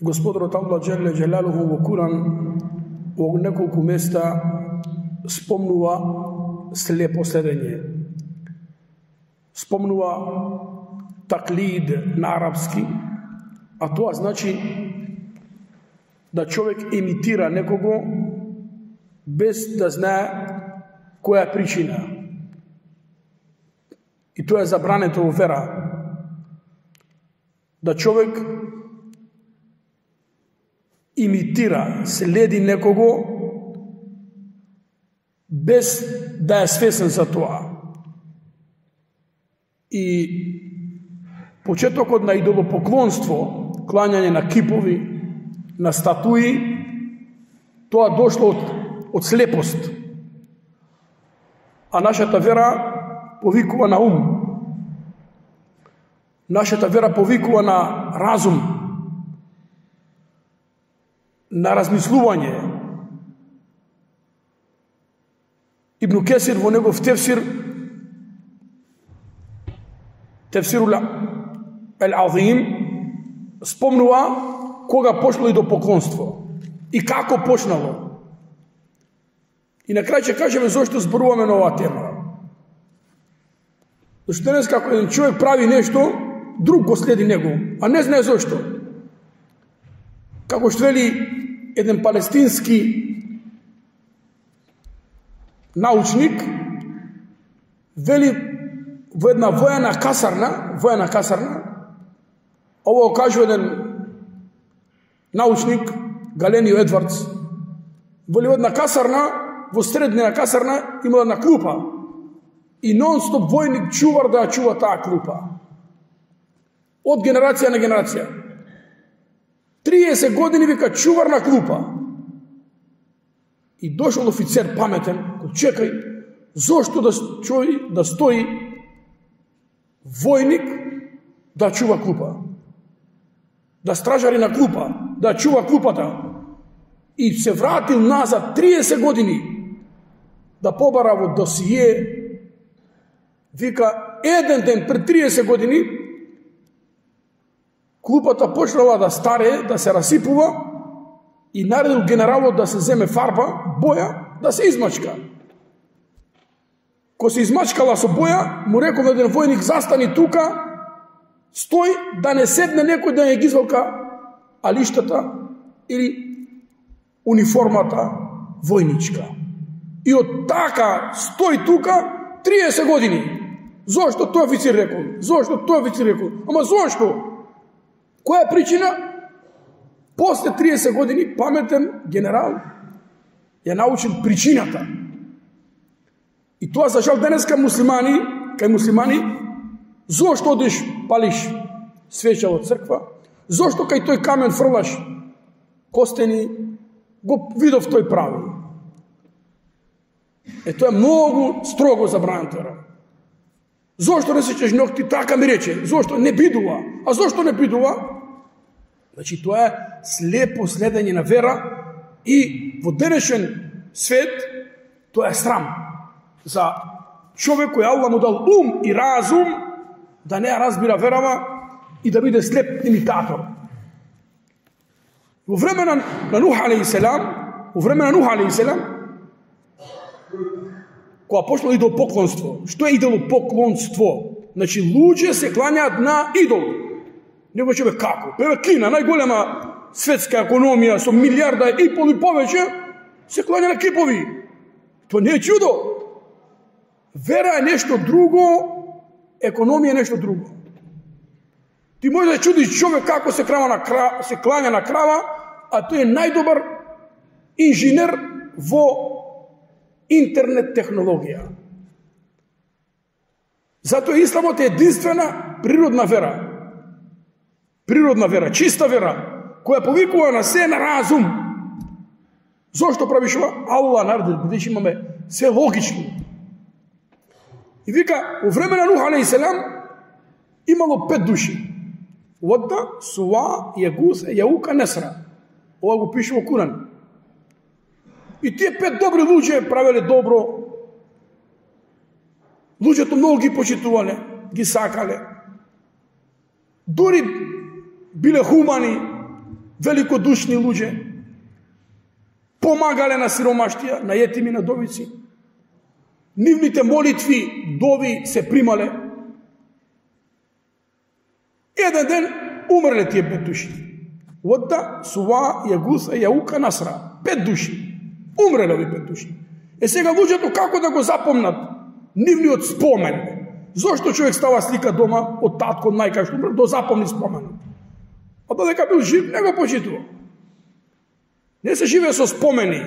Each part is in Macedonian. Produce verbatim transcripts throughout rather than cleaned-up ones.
Господарот Аллах Джелле Джелалуху во Куран во неколку места спомнува слепо следење. Спомнува таклид на арапски, а тоа значи да човек имитира некого без да знае која е причина. И тоа е забрането во вера. Да човек имитира, следи некого без да е свесен за тоа. И почетокот на идолопоклонство, клањање на кипови, на статуи, тоа дошло од, од слепост. А нашата вера повикува на ум. Нашата вера повикува на разум, на размислување. Ибн Кесир во негов тефсир, тефсирул Ал-Азим, спомнува кога пошло идолопоклонство и како почнало. И на крај ќе кажеме зошто зборуваме на оваа тема. Зашто денес како еден човек прави нешто, друг го следи него, а не знае зошто. Како што вели еден палестински научник, вели во една воена касарна, воена касарна, ово кажува еден научник, Галенио Едвардс, вели во една касарна, во средина касарна има една клупа и нон-стоп војник чувар да ја чува таа клупа. Од генерација на генерација. триесет години вика чувар на клупа. И дошол офицер паметен, чекај, зошто да стои, да стои војник да чува клупа? Да стражари на клупа, да чува клупата. И се вратил назад триесет години да побара во досие. Вика, еден ден пред триесет години клупата почнала да старе, да се расипува и наредил генералот да се земе фарба, боја, да се измачка. Ко се измачкала со боја, му рекол еден војник, застани тука, стој да не седне некој да не ги извалка алиштата или униформата војничка. И од така стој тука триесет години. Зошто тој офицер рекол? Зошто тој офицер рекол? Ама зошто? Која е причина? После триесет години паметен генерал ја научил причината. И тоа за жал денеска муслимани, кај муслимани, зошто одиш палиш свеча од црква? Зошто кај тој камен фрлаш костени? Го видов тој прави. Е, тоа е многу строго забрането. Зошто не сечеш ногти? Така ми рече. Зошто не бидува? А зошто не бидува? Значи, тоа е слепо следење на вера и во денешен свет тоа е срам за човек кој Аллах му дал ум и разум да не ја разбира верава и да биде слеп имитатор. Во време на, на Нух алейхиселам, во време на Нух алейхиселам, кога пошло идолопоклонство. Што е идолопоклонство? Значи, луѓе се клањаат на идол. Него ќе бе како? Певе Кина, најголема светска економија со милиарда и пол и повеќе, се клања на кипови. Тоа не е чудо. Вера е нешто друго, економија е нешто друго. Ти може да чудиш човек како се, крава на крава, се клања на крава, а тој е најдобар инженер во интернет технологија. Затоа исламот е единствена природна вера. Природна вера, чиста вера, која повикува на се на разум. Зошто правиш ова? Аллах наредил, бидејќи имаме се логично. И вика, во време на Нух алейхиселам имало пет души. Водда, Суа, Јагус, Јаука, Несра. Ова го пише во Куран. И тие пет добри луѓе правеле добро. Луѓето многу ги почитувале, ги сакале. Дори биле хумани, великодушни луѓе, помагале на сиромаштија, на етими, на довици. Нивните молитви, дови се примале. Еден ден умрле тие пет души. Водда, Сува, Јагуса, Јаука, Насра. Пет души. Умреле ови пет души. Е сега луѓето како да го запомнат нивниот спомен? Зошто човек става слика дома од татко, од мајка што умре, да запомни споменот? А додека бил жив, не го почитува. Не се живее со спомени.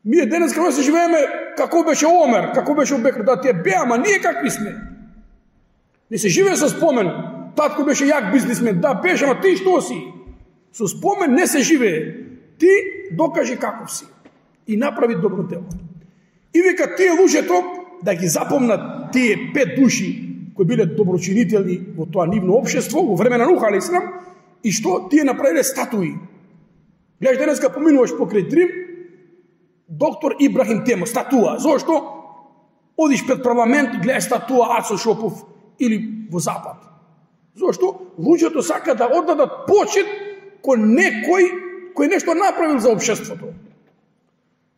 Ние денес како се живееме како беше Омер, како беше Бекр, да тие беа, ама ние какви сме. Не се живее со спомен. Татко беше јак бизнисмен, да беше, ама ти што си? Со спомен не се живее. Ти докажи каков си и направи добро дело. И вика тие луѓето да ги запомнат тие пет души кои биле доброчинители во тоа нивно општество во време на Нух алейхиссалам и што тие направиле статуи. Гледаш денеска поминуваш покрај Дрим, доктор Ибрахим Темо, статуа. Зошто? Одиш пред парламент, гледаш статуа Ацо Шопов или во Запад. Зошто? Луѓето сака да оддадат почит кој некој кој нешто направил за општеството.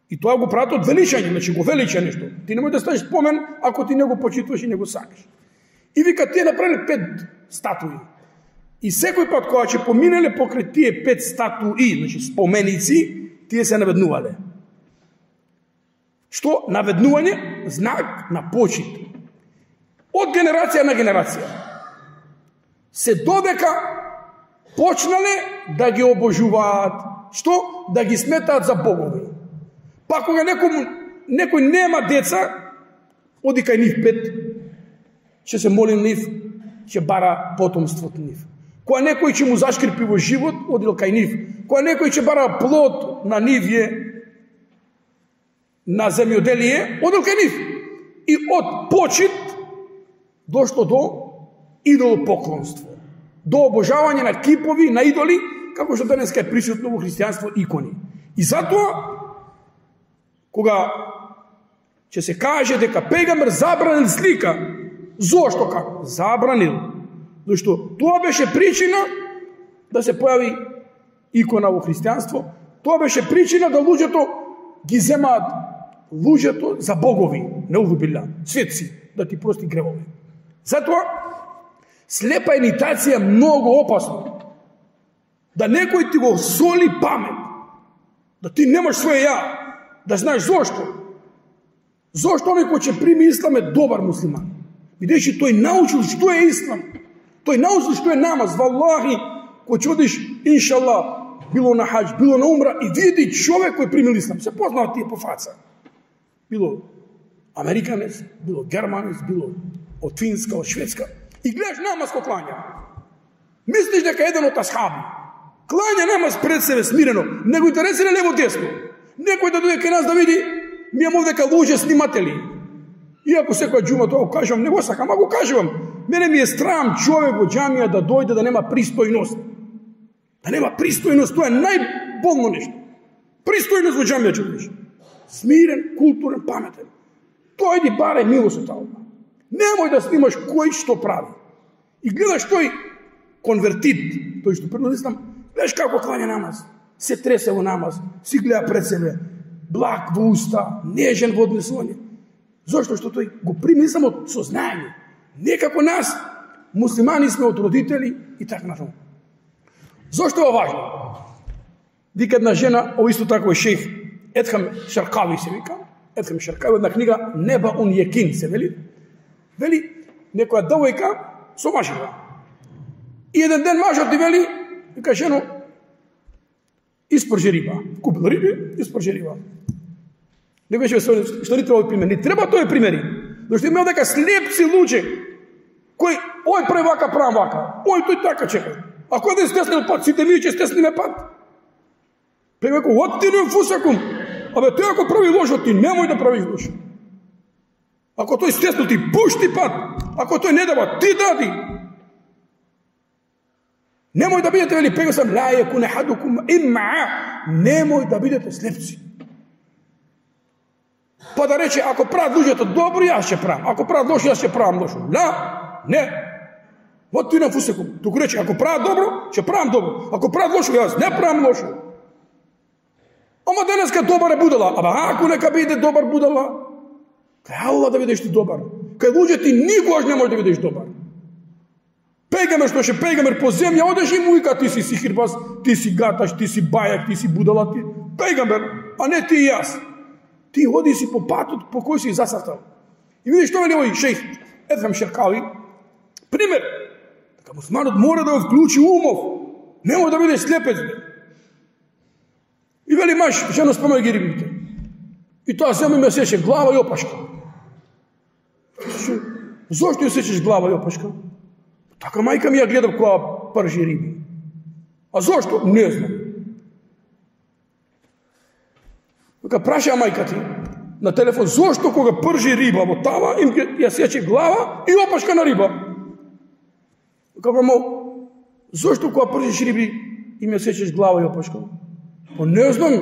И тоа го прават од величање, значи го велича нешто. Ти не можеш да ставиш спомен ако ти не го почитуваш и не го сакаш. И вика тие направиле пет статуи. И секој пат кога ќе поминеле покрај тие пет статуи, значи споменици, тие се наведнувале. Што? Наведнување, знак на почит. Од генерација на генерација. Се додека почнале да ги обожуваат. Што? Да ги сметаат за богови. Па кога некој, некој нема деца, оди кај нив пет, ќе се моли нив, ќе бара потомството нив. Кога некој ќе му зашкрипи во живот, одил кај нив. Кога некој ќе бара плод на нивје, на земјоделие, одил кај нив. И од почит дошло до идолопоклонство, до обожавање на кипови, на идоли, како што денеска е присутно во христијанство икони. И затоа кога ќе се каже дека пегамбер забранил слика, зошто како? Забранил. Зашто тоа беше причина да се појави икона во христијанство, тоа беше причина да луѓето ги земаат луѓето за богови, неузу билла, светци, да ти прости гревови. Затоа слепа имитација е многу опасно. Да некој ти го соли памет, да ти немаш своје ја, да знаеш зошто. Зошто оној кој ќе прими ислам е добар муслиман. Бидејќи тој научил што е ислам. Тој научил што е намаз. Валлахи, кој ќе одиш, иншаллах, било на хаџ, било на умра и види човек кој примил ислам. Се познава тие по фаца. Било американец, било германец, било од Финска, од Шведска. И гледаш намаз кој клања. Мислиш дека еден од асхаби клања намаз пред себе смирено, не го интересира лево десно. Некој да дојде кај нас да види, ми имам овдека луѓе сниматели. Иако секоја џума тоа го кажувам, не го сакам, а го кажувам. Мене ми е страм човек во џамија да дојде да нема пристојност. Да нема пристојност, тоа е најболно нешто. Пристојност во џамија човек. Смирен, културен, паметен. Дојди барај милост од Аллах. Немој да снимаш кој што прави. И гледаш тој конвертит, тој што пред ислам, гледаш како клања намаз. Се тресе во намаз, си гледа пред себе, благ во уста, нежен во однесување. Зошто? Што тој го прими само од сознање. Не како нас, муслимани сме од родители и така натаму. Зошто е важно? Вика една жена, о исто тако е шех Едхам Шаркави се вика, Едхам Шаркави, една книга Неба ун Јекин се вели. Вели, некоја девојка со мажева. И еден ден мажот ти вели, вика жено, испржи риба. Купил риби, испржи риба. Не беше што ни треба овој пример. Не треба тој примери. Зашто имел дека слепци луѓе, кој, ој прави вака, правам вака, ој тој така чека. А кој да стеснил пат, сите ние ќе стесниме пат. Пеј веко, оттинуем фусакум. Абе, тој ако прави лошо, ти немој да правиш лошо. Ако тој стеснил, ти пушти пат. Ако тој не дава, ти дади. Немој да бидете, вели, пега сам, ла јекуне хадукум имма, немој да бидете слепци. Па да рече, ако прават луѓето добро, јас ќе правам. Ако прават лошо, јас ќе правам лошо. Ла, не. Вот тој на фусекум. Туку рече, ако прават добро, ќе правам добро. Ако прават лошо, јас не правам лошо. Ама денеска добар е будала. Ама ако нека биде добар будала, кај Аллах да бидеш ти добар. Кај луѓе ти никогаш не можеш да бидеш добар. Пегамер што ше пегамер по земја, одеш и му вика ти си сихирбаз, ти си гаташ, ти си бајак, ти си будала, ти пегамер, а не ти и јас. Ти ходи си по патот по кој си засартал. И видиш што вели овој шејх Едхам Шеркави, пример, така мусманот мора да го вклучи умов, не може да биде слепец. И вели маш, жено спомај ги рибите. И тоа зема ме сече глава и опашка. Зошто ја сечеш глава и опашка? Така мајка ми ја гледав која пржи риби. А зошто? Не знам. Така праша мајка ти на телефон, зошто кога пржи риба во тава, им ја сече глава и опашка на риба? Така мамо, зошто кога пржиш риби им ја сечеш глава и опашка? Па не знам,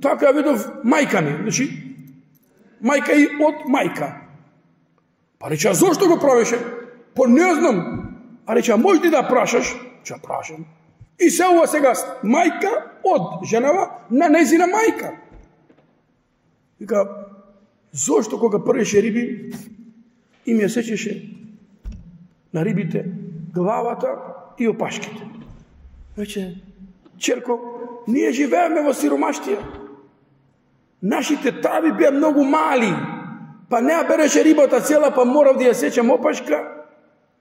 така ја видов мајка ми. Значи, мајка и од мајка. Па рече, а зошто го правеше? Па не знам. А рече, можеш ли да прашаш? Че прашам. И се ова сега мајка од женава на незина мајка. Вика, зошто кога првеше риби, им ја сечеше на рибите главата и опашките. Рече, черко, ние живееме во сиромаштија. Нашите тави беа многу мали, па не ја береше рибата цела, па морав да ја сечам опашка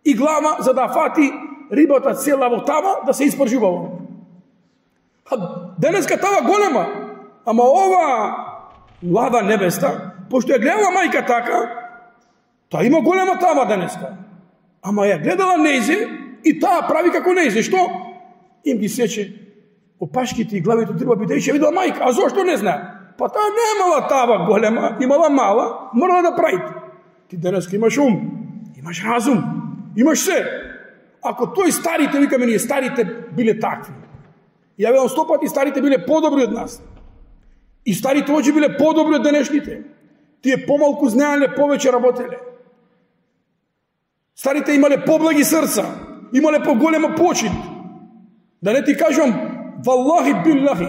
и глава, за да фати рибата цела во тава, да се испржувала. А денеска тава голема, ама ова млада невеста, пошто ја гледала мајка така, таа има голема тава денеска. Ама ја гледала нејзе и таа прави како нејзе. Што? Им ги сече опашките и главите треба бидејќи ја видела мајка. А зошто не знае? Па таа немала тава голема, имала мала, морала да правите. Ти денеска имаш ум, имаш разум, имаш се. Ако тој старите, викаме ние, старите биле такви. Ја велам сто пати, старите биле подобри од нас. И старите очи биле подобри од денешните. Тие помалку знаеле, повеќе работеле. Старите имале поблаги срца, имале поголема почит. Да не ти кажам, валлахи биллахи.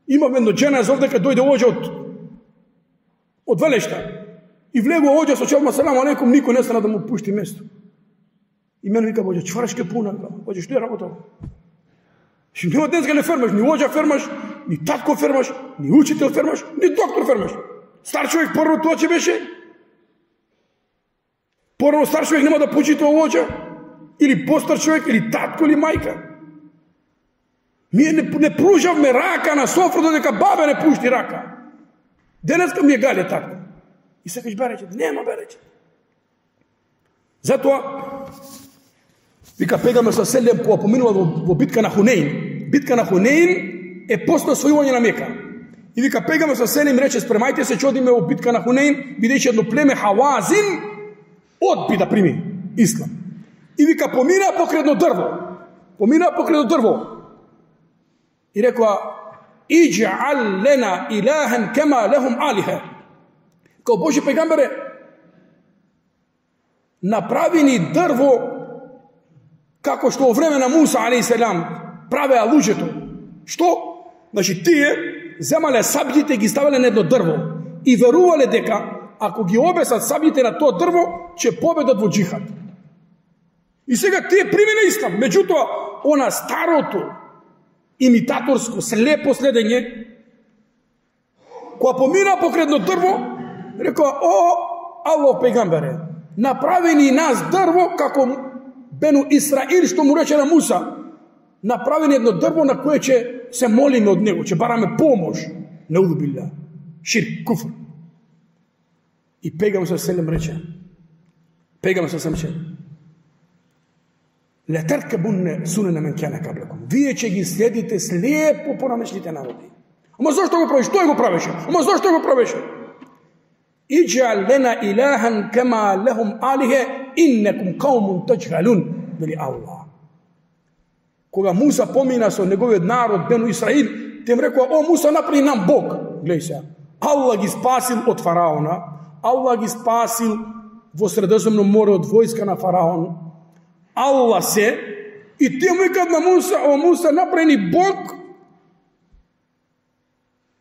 Имам едно жена зов дека дојде оđа од од Велешта. И влегува оđа со челма салам алейкум, никој не стана да му пушти место. И мене вика оđа, чварашке пуна, оđа што ја работал? Ши нема денеска не фермаш, ни оđа фермаш, ни татко фермаш, ни учител фермаш, ни доктор фермаш. Стар човек прво тоа че беше? Прво стар човек нема да почита оđа? Или постар човек, или татко, или мајка? Ние не, не пружавме рака на софра додека баба не пушти рака. Денеска ми е гале така. И сакаш береќе, нема береќе. Затоа, вика пегаме со селем кога поминува во, во битка на Хунейн. Битка на Хунейн е после освојување на Мека. И вика пегаме со селем рече, спремајте се, че одиме во битка на Хунейн, бидејќи едно племе Хавазин одби да прими ислам. И вика помина покрај едно дрво. Помина покрај едно дрво. И рекоа, идж'ал лена илахен кема лехум алиха. Као Божи пегамбере, направи ни дрво како што во време на Муса алейхиссалам правеа луѓето. Што? Значи тие земале сабјите и ги ставале на едно дрво и верувале дека ако ги обесат сабјите на тоа дрво, ќе победат во џихад. И сега тие примена ислам, меѓутоа она старото имитаторско, слепо следење, кога помина покрај едно дрво, рекоа, о, Аллах пегамбере, направи ни нас дрво како Бену Исраил што му рече на Муса, направи ни едно дрво на кое ќе се молиме од него, ќе бараме помош. Неуду билля, ширк, куфр. И пегам се селем рече, пегам се селем рече, летеркебунне сунена мен кана каблакум. Вие ќе ги следите слепо по намешлите народи. Ама зошто го правиш? Тој го правеше. Ама зошто го правеше? Идж'ал лена илахан кема лехум алихе иннекум каумун таджхалун, вели Аллах. Кога Муса помина со неговиот народ Бену Исраил, тем рекоа, о Муса, направи нам Бог. Гледај се. Аллах ги спасил од фараона, Аллах ги спасил во Средоземно море од војска на фараон, Allah се, и те му викат на Муса, о Муса, направи ни Бог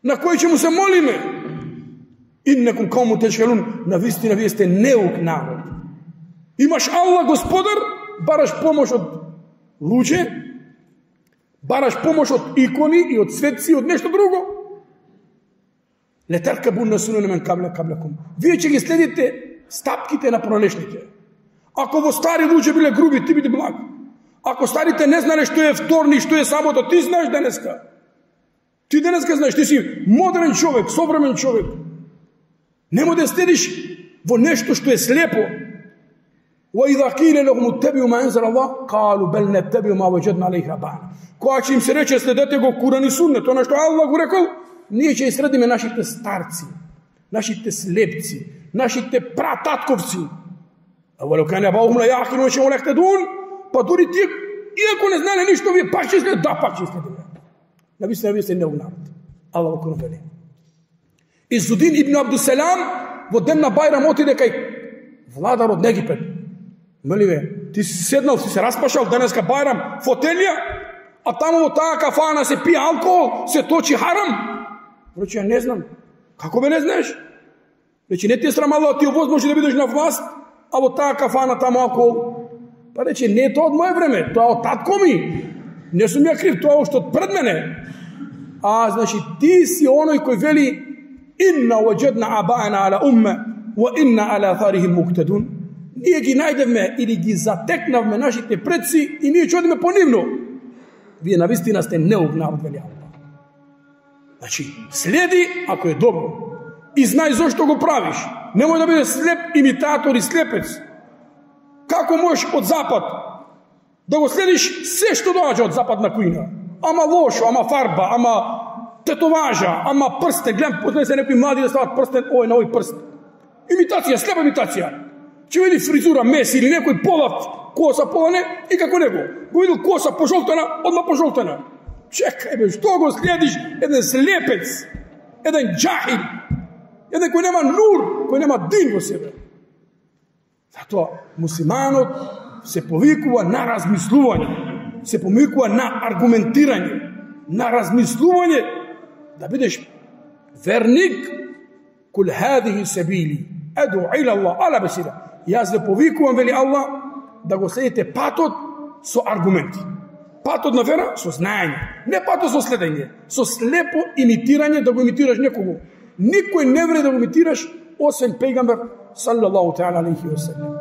на кој ќе му се молиме. Иннекум каумун теджхалун, навистина вие сте неук народ. Имаш Allah Господар, бараш помош од луѓе, бараш помош од икони и од светци и од нешто друго. Летаркабунна сунана мен кабла каблекум. Вие ќе ги следите стапките на пронешните. Ако во стари луѓе биле груби, ти биде благ. Ако старите не знаеле што е вторник, што е сабота, ти знаеш денеска. Ти денеска знаеш, ти си модерен човек, современ човек. Нема да следиш во нешто што е слепо. وَإِذَا قِيلَ لَهُمُ اتَّبِعُوا مَا أَنزَلَ اللَّهُ قَالُوا بَلْ نَتَّبِعُ مَا وَجَدْنَا عَلَيْهِ آبَاءَنَا. Кога ќе им се рече следете го Куран и Суннет, тоа што Аллах го рекол, ние ќе следиме нашите старци, нашите слепци, нашите прататковци. وَلَوْ كَانَ آبَاؤُهُمْ لَا يَعْقِلُونَ وَلَا يَهْتَدُونَ. Па дури тие, иако не знаеле ништо, вие пак ќе следите, да, пак ќе следиме. Навистина вие сте неук народ. Аллах го вели. Изудин ибн Абдусалам во ден на Бајрам отиде кај владар од Египет. Меливе, ти си седнал, си се распашал денеска Бајрам, фотелија, а таму во таа кафана се пие алкохол, се точи харам. Рече, не знам. Како бе не знаеш? Рече, не ти е срамало, ти овозможи да бидеш на власт, а во таа кафана таму алкохол. Па рече, не е тоа од моје време, тоа од татко ми. Не сум ја крив, тоа уште од пред мене. А, значи, ти си оној кој вели инна ваджадна абаана ала умме wa inna ala atharihim muqtadun. Ние ги најдевме или ги затекнавме нашите предци и ние ќе одиме по нивно. Вие навистина сте неук народ, вели Аллах. Значи, следи ако е добро и знај зошто го правиш. Немој да бидеш слеп имитатор и слепец. Како можеш од запад да го следиш се што доаѓа од западна кујна? Ама лошо, ама фарба, ама тетоважа, ама прстен. Гледам, познае се некои млади да стават прстен, ој на ој прст. Имитација, слепа имитација. Ќе види фризура Меси или некој полав коса полане и како него. Го видел коса пожолтена, одма пожолтена. Чекај бе, што го следиш? Еден слепец, еден џахил, еден кој нема нур, кој нема дин во себе. Затоа муслиманот се повикува на размислување, се повикува на аргументирање, на размислување, да бидеш верник. Кул хадихи сабили аду ила Allah ala basira. Јас да повикувам, вели Аллах, да го следите патот со аргументи. Патот на вера со знаење, не патот со следење, со слепо имитирање, да го имитираш некого. Никој не вреди да го имитираш освен пејгамбер саллаллаху таала алейхи ва саллем.